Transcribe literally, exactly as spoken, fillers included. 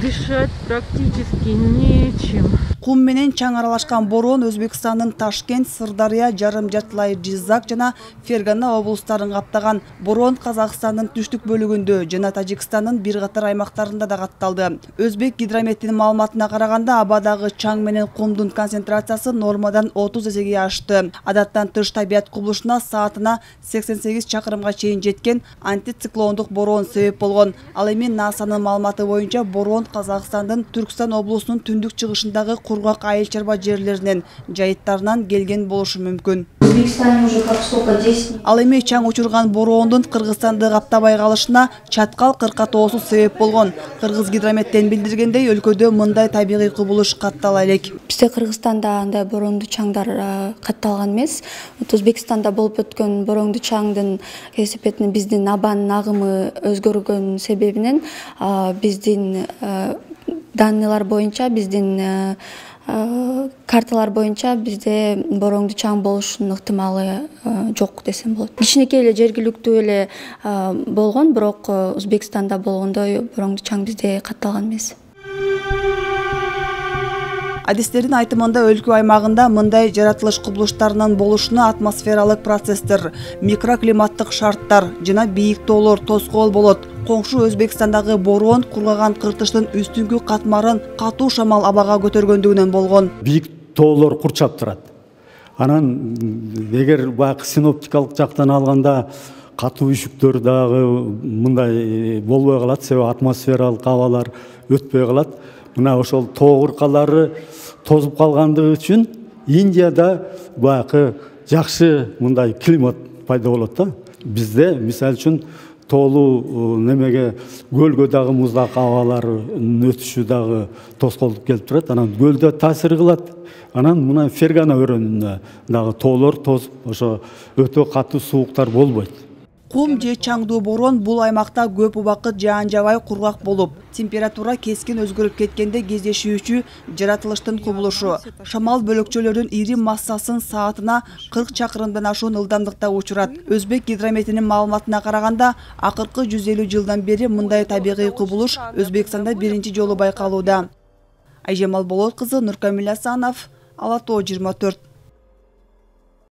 Дышать практически нечем. Кум менен чаң аралашкан бороон Өзбекстандын Ташкент, Сырдария, Жарым Жартылай Жизак жана Фергана облустарын каптаган. Бороон Казакстандын түштүк бөлүгүндө жана Тажикстандын бир катар аймактарында да катталды. Өзбек гидрометтин маалыматына караганда, абадагы чаң менен кумдун концентрациясы нормадан отуз эсеге ашты. Адаттан тыш табият кубулушуна саатына сексен сегиз чакырымга чейин жеткен антициклондук бороон себеп болгон. Ал эми НАСАнын маалыматы боюнча бороон Казакстандын Түркстан облусунун түндүк чыгышындагы кургак айыл чарба жерлеринен, жайыттарынан келген болушу мүмкүн. Ал эми чаң учурган бороондун Кыргызстанды каптабай калышына чаткал кырка тоосу себеп болгон. Кыргыз гидрометтен билдиргендей, өлкөдө мындай табигый кубулуш каттала элек. Бизде Кыргызстанда андай бороондуу чаңдар катталган эмес. Өзбекстанда болуп өткөн бороондуу чаңдын кесепетинен биздин абанын агымы өзгөргөн себебинен биздин данныйлар боюнча, биздин карталар боюнча бизде бороондуу чаң болушунун ыктымалы жок десем болот. Кичинекей эле жергиликтүү эле болгон, бирок Өзбекстанда болгондой бороондуу чаң бизде катталган эмес. Адистердин айтымында өлкө аймагында мындай жаратылыш кубулуштарынын болушуна атмосфералык процесстер, микроклиматтык шарттар жана бийик тоолор тоскоол болот. Коңшу Өзбекстандагы бороон кургаган кыртыштын үстүңкү катмарын катуу шамал абага көтөргөндүгүнөн болгон. Бийик тоолор курчап турат. Анан эгер баягы синоптикалык жактан алганда катуу үшүктөр дагы мындай болбой калат, себеби атмосфералык абалар өтпөй калат. Мына ошол тоо кыркалары тозуп калгандыгы үчүн Индияда баягы жакшы мындай климат пайда болот да. Бизде мисалы үчүн тоолуу немеге көлгө дагы муздак абалардын өтүшү дагы тоскоолдук келип турат. Анан көлдө таасир кылат. Анан мына Фергана өрөөнүндө дагы тоолор тозуп, ошо өтө катуу сууктар болбойт. Кум же чаңдуу бороон бул аймакта көп убакыт жаан жабай кургак болуп, температура кескин өзгөрүп кеткенде кездешүүчү жаратылыштын кубулушу. Шамал бөлөкчөлөрдүн ири массасын саатына кырк чакырымдан ашуун ылдамдыкта учурат. Өзбек гидрометинин маалыматына караганда, акыркы жүз элүү жылдан бери мындай табигый кубулуш Өзбекстанда биринчи жолу байкалууда. Айжамал Болот кызы, Нуркамил Асанов, Ала тоо жыйырма төрт.